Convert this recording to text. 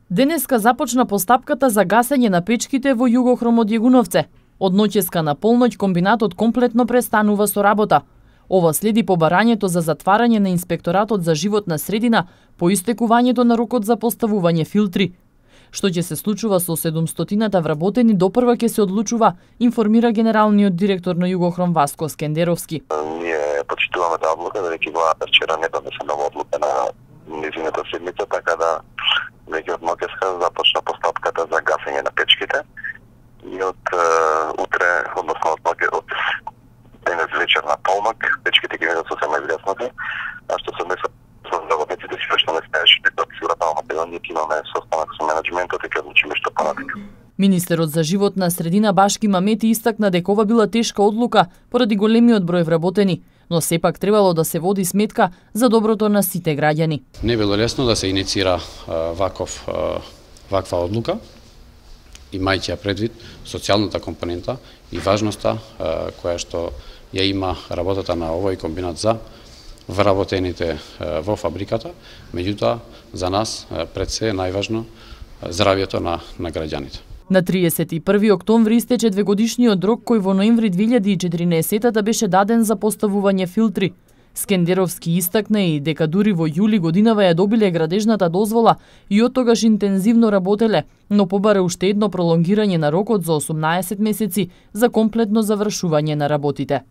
Денеска започна постапката за гасење на печките во Југохром од Јегуновце. Од ноќеска на полноќ комбинатот комплетно престанува со работа. Ова следи побарањето за затварање на Инспекторатот за животна средина по истекувањето на рокот за поставување филтри. Што ќе се случува со 700-та вработени допрва ќе се одлучува, информира генералниот директор на Југохром Васко Скендеровски. Ние почитуваме таа одлука, бидејќи владата вчера не донесе нова одлука на низината седмица, така да веќе од ноќеска започна постапката за гасење на печките и од утре, односно од денес вечер на полнок, печките ќе бидат сосема изгаснати, а што се однесува со работниците си што не стаеше дека сигурно Македонија имаме состанок со менаџментот и ќе одлучиме што понатака. Министерот за животна средина Башки Мамети истакна дека ова била тешка одлука поради големиот број вработени, но сепак требало да се води сметка за доброто на сите граѓани. Не било лесно да се иницира ваква одлука, имајќи ја предвид социјалната компонента и важноста која што ја има работата на овој комбинат за вработените во фабриката, меѓутоа за нас пред се е најважно здравјето на граѓаните. На 31 октомври истече двегодишниот рок кој во ноември 2014 беше даден за поставување филтри. Скендеровски истакна и дека дури во јули годинава ја добиле градежната дозвола и од тогаш интензивно работеле, но побара уште едно пролонгирање на рокот за 18 месеци за комплетно завршување на работите.